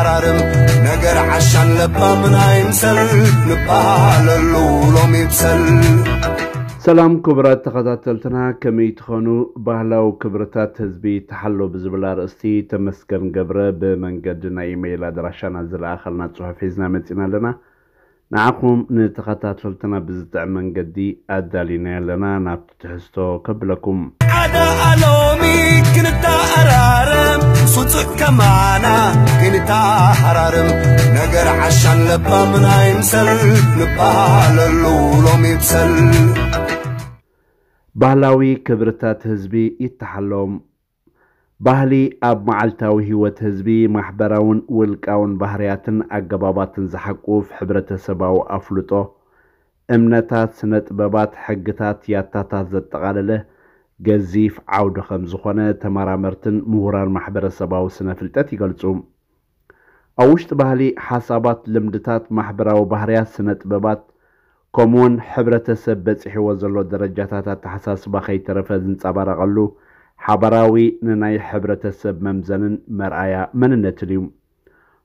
ኣራርም ነገር ዓሻን ለባምን ኣይምሰል ንበሃለሉ ሎሚ ይብሰል። ሰላም ክቡራት ተኸታተልትና፣ ከመይ ትኾኑ? ባህላዊ ክብርታት ህዝቢ ተሓሎ ብዝብል ኣርእስቲ ተመስገን ገብረ ብመንገዲ ናይ ኢሜይል ኣድራሻና ዝለኣኸልና ጽሑፍ ሒዝና መጺና ኣለና። ንዓኹም ንተኸታተልትና ብዝጥዕም መንገዲ ኣዳሊና ኣለና። ናብቲ ትሕዝቶ ከብለኩም። ሓደ ኣሎሚ ክንተኣራረም፣ ስጡዕ ከማና ክንተሃራርም፣ ነገር ዓሻን ለባምን ኣይምሰል ንበሃለሉ ሎሚ ይብሰል። ባህላዊ ክብርታት ህዝቢ ይተሓሎም። ባህሊ ኣብ መዓልታዊ ህይወት ህዝቢ ማሕበራውን ውልቃውን ባህርያትን ኣገባባትን ዝሓቁፍ ሕብረተሰባዊ ኣፍልጦ፣ እምነታት፣ ስነ ጥበባት፣ ሕግታት፣ ያታታት ዘጠቓለለ ገዚፍ ዓውዲ ከም ዝኾነ ተመራመርትን ምሁራን ማሕበረሰባዊ ስነ ፍልጠት ይገልጹ። ኣብ ውሽጢ ባህሊ፣ ሓሳባት፣ ልምድታት፣ ማሕበራዊ ባህርያት፣ ስነ ጥበባት፣ ከምኡውን ሕብረተሰብ በጺሕዎ ዘሎ ደረጃታት ኣተሓሳስባ ከይተረፈ ዝንጸባረቐሉ ሓባራዊ ንናይ ሕብረተሰብ መምዘንን መርኣያ መንነትን እዩ።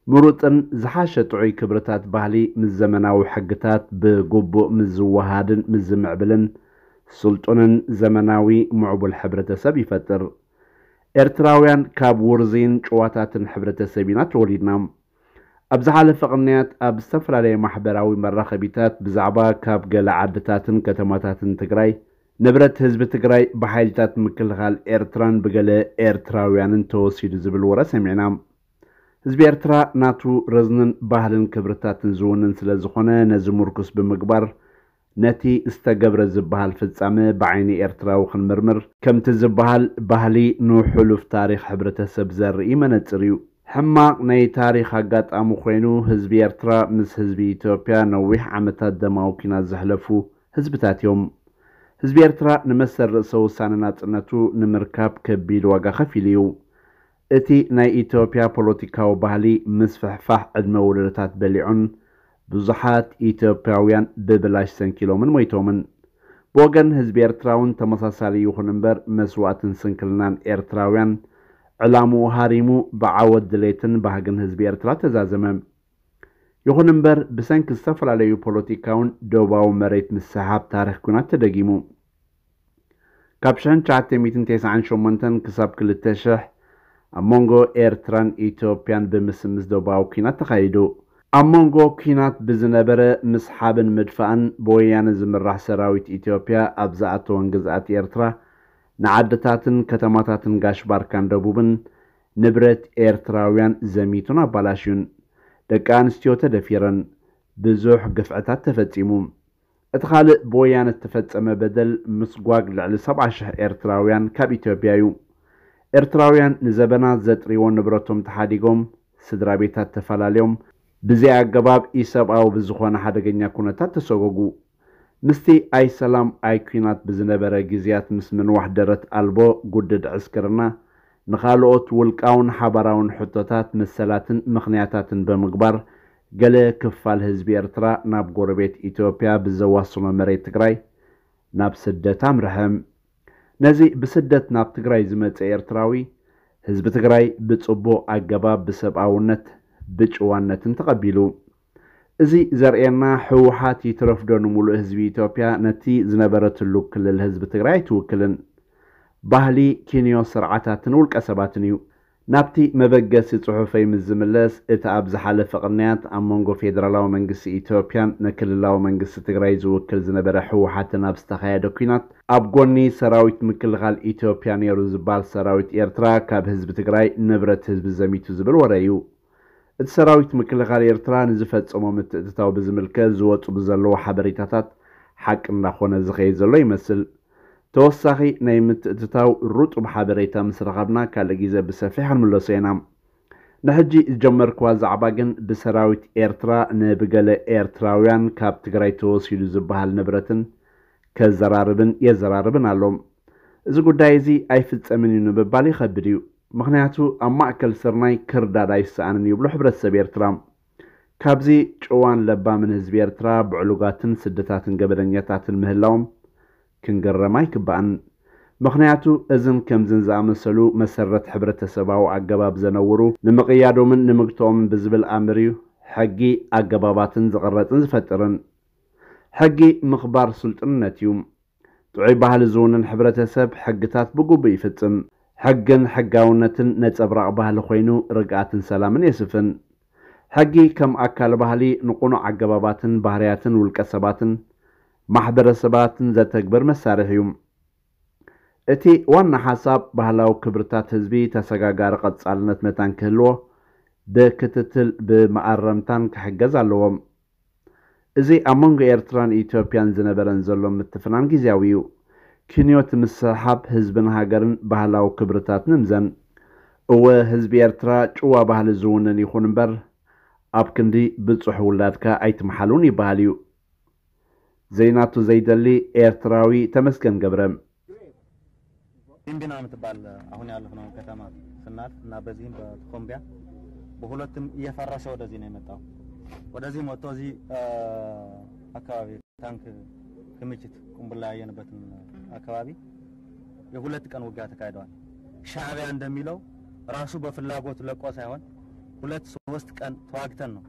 ምሩጽን ዝሓሸ ጥዑይ ክብርታት ባህሊ ምስ ዘመናዊ ሕግታት ብግቡእ ምስ ዝወሃድን ምስ ዝምዕብልን ስልጡንን ዘመናዊ ምዕቡል ሕብረተሰብ ይፈጥር። ኤርትራውያን ካብ ውርዝይን ጭዋታትን ሕብረተሰብ ኢና ተወሊድና። ኣብ ዝሓለፈ ቅንያት ኣብ ዝተፈላለየ ማሕበራዊ መራኸቢታት ብዛዕባ ካብ ገለ ዓድታትን ከተማታትን ትግራይ ንብረት ህዝቢ ትግራይ ብሓይልታት ምክልኻል ኤርትራን ብገለ ኤርትራውያንን ተወሲዱ ዝብል ወረ ሰሚዕና። ህዝቢ ኤርትራ ናቱ ረዝንን ባህልን ክብርታትን ዝውንን ስለ ዝኾነ ነዚ ምርኩስ ብምግባር ነቲ ዝተገብረ ዝበሃል ፍጻመ ብዓይኒ ኤርትራዊ ክንምርምር ከምቲ ዝበሃል ባህሊ ንሕሉፍ ታሪኽ ሕብረተሰብ ዘርኢ መነጽር እዩ። ሕማቕ ናይ ታሪኽ ኣጋጣሚ ኮይኑ ህዝቢ ኤርትራ ምስ ህዝቢ ኢትዮጵያ ነዊሕ ዓመታት ደማዊ ኲናት ዘሕለፉ ህዝብታት እዮም። ህዝቢ ኤርትራ ንመሰል ርእሰ ውሳነ ናጽነቱ ንምርካብ ከቢድ ዋጋ ከፊሉ እዩ። እቲ ናይ ኢትዮጵያ ፖለቲካዊ ባህሊ ምስፍሕፋሕ ዕድመ ወለዶታት በሊዑን ብዙሓት ኢትዮጵያውያን ብብላሽ ሰንኪሎምን ሞይቶምን። ብወገን ህዝቢ ኤርትራ እውን ተመሳሳሊ ይኹን እምበር መስዋእትን ስንክልናን ኤርትራውያን ዕላምኡ ሃሪሙ ብዓወት ድሌትን ባህግን ህዝቢ ኤርትራ ተዛዘመ። ይኹን እምበር ብሰንኪ ዝተፈላለዩ ፖለቲካውን ዶባዊ መሬት ምስሕሓብ ታሪኽ ኲናት ተደጊሙ። ካብ ሽሕን ትሽዓተ ሚእትን ተስዓን ሸሞንተን ክሳብ ክልተ ሽሕ ኣብ መንጎ ኤርትራን ኢትዮጵያን ብምስምስ ዶባዊ ኲናት ተኻይዱ። ኣብ መንጎ ኲናት ብዝነበረ ምስሓብን ምድፋእን ብወያነ ዝምራሕ ሰራዊት ኢትዮጵያ ኣብ ዝኣተወን ግዝኣት ኤርትራ ንዓድታትን ከተማታትን ጋሽ ባርካን ደቡብን ንብረት ኤርትራውያን ዘሚቱን ኣባላሽዩን። ደቂ ኣንስትዮ ተደፊረን፣ ብዙሕ ግፍዕታት ተፈጺሙ። እቲ ካልእ ብወያነ ዝተፈጸመ በደል ምስጓግ ልዕሊ ሰብዓ ሽሕ ኤርትራውያን ካብ ኢትዮጵያ እዩ። ኤርትራውያን ንዘበናት ዘጥርይዎ ንብረቶም ተሓዲጎም፣ ስድራ ቤታት ተፈላለዮም፣ ብዘይ ኣገባብ ኢሰብኣዊ ብዝኾነ ሓደገኛ ኩነታት ተሰጎጉ። ምስቲ ኣይ ሰላም ኣይ ኲናት ብዝነበረ ግዝያት ምስ ምንዋሕ ደረት ኣልቦ ጉድድ ዕስክርና፣ ንኻልኦት ውልቃውን ሓባራውን ሕቶታት መሰላትን ምኽንያታትን ብምግባር፣ ገለ ክፋል ህዝቢ ኤርትራ ናብ ጎረቤት ኢትዮጵያ ብዘዋስኖ መሬት ትግራይ ናብ ስደት ኣምርሐ። ነዚ ብስደት ናብ ትግራይ ዝመጸ ኤርትራዊ፣ ህዝቢ ትግራይ ብጽቡቕ ኣገባብ ብሰብኣውነት ብጭዋነትን ተቐቢሉ። እዚ ዘርእየና ህወሓት ይትረፍዶ ንምሉእ ህዝቢ ኢትዮጵያ ነቲ ዝነበረትሉ ክልል ህዝቢ ትግራይ ኣይትውክልን። ባህሊ ኪንዮ ስርዓታትን ውልቀ ሰባትን እዩ። ናብቲ መበገሲ ጽሑፈይ ምስ ዝምለስ፣ እቲ ኣብ ዝሓለፈ ቅንያት ኣብ መንጎ ፌደራላዊ መንግስቲ ኢትዮጵያን ንክልላዊ መንግስቲ ትግራይ ዝውክል ዝነበረ ህወሓትን ኣብ ዝተኻየደ ኲናት ኣብ ጎኒ ሰራዊት ምክልኻል ኢትዮጵያ ነይሩ ዝበሃል ሰራዊት ኤርትራ ካብ ህዝቢ ትግራይ ንብረት ህዝቢ ዘሚቱ ዝብል ወረ እዩ። እቲ ሰራዊት ምክልኻል ኤርትራ ንዝፈጸሞ ምትእትታው ብዝምልከት ዝወጹ ብዘለዉ ሓበሬታታት ሓቂ እንዳኾነ ዝኸይድ ዘሎ ይመስል። ተወሳኺ ናይ ምትእትታው ሩጡብ ሓበሬታ ምስ ረኸብና ካልእ ግዜ ብሰፊሕ ክንምለሶ ኢና። ንሕጂ ዝጀመርክዋ ዛዕባ ግን ብሰራዊት ኤርትራ ንብገለ ኤርትራውያን ካብ ትግራይ ተወሲዱ ዝበሃል ንብረትን ከዘራርብን የዘራርብን ኣሎ። እዚ ጉዳይ እዚ ኣይፍጸምን እዩ ንምባል ይኸብድ እዩ። ምኽንያቱ ኣብ ማእከል ስርናይ ክርዳድ ኣይሰኣንን ይብሉ ሕብረተሰብ ኤርትራ። ካብዚ ጭዋን ለባምን ህዝቢ ኤርትራ ብዕሉጋትን ስደታትን ገበነኛታትን ምህላዎም ክንግረም ኣይግባእን። ምኽንያቱ እዝን ከምዝን ዝኣመሰሉ መሰረት ሕብረተሰባዊ ኣገባብ ዘነውሩ ንምቕያዶምን ንምግትኦምን ብዝብል ኣምር እዩ ሕጊ ኣገባባትን ዝቕረጽን ዝፈጥርን። ሕጊ ምኽባር ስልጡንነት እዩ። ጥዑይ ባህሊ ዝውንን ሕብረተሰብ ሕግታት ብግቡእ ይፍጽም። ሕግን ሕጋውነትን ነጸብራቕ ባህሊ ኮይኑ ርግኣትን ሰላምን የስፍን። ሕጊ ከም ኣካል ባህሊ ንቕኑዕ ኣገባባትን ባህርያትን ውልቀ ሰባትን ማሕበረሰባትን ዘተግብር መሳርሒ እዩ። እቲ ዋና ሓሳብ ባህላዊ ክብርታት ህዝቢ ተሰጋጋሪ ቀጻልነት መታን ክህልዎ ብክትትል ብመኣረምታን ክሕገዝ ኣለዎ። እዚ ኣብ መንጎ ኤርትራን ኢትዮጵያን ዝነበረን ዘሎ ምትፍናን ግዝያዊ እዩ። ክንዮ እቲ ምስሕሓብ ህዝብን ሃገርን ባህላዊ ክብርታት ንምዘን። እወ ህዝቢ ኤርትራ ጭዋ ባህሊ ዝውንን ይኹን እምበር ኣብ ክንዲ ብጹሕ ውላድካ ኣይትምሓሉን ይበሃል እዩ። ዘይናቱ ዘይደሊ ኤርትራዊ ተመስገን ገብረ። ቢምቢና የምትባል አሁን ያለፍነው ከተማ ስናልፍ እና በዚህም በቶኮምቢያ በሁለትም እየፈረሰ ወደዚህ ነው የመጣው። ወደዚህ መጥቶ እዚህ አካባቢ ታንክ ክምችት ቁምቡላ ያየንበትን አካባቢ የሁለት ቀን ውጊያ ተካሂደዋል። ሻዕቢያ እንደሚለው ራሱ በፍላጎት ለቆ ሳይሆን ሁለት ሶስት ቀን ተዋግተን ነው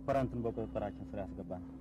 ኮረንትን በቁጥጥራችን ስር ያስገባነው።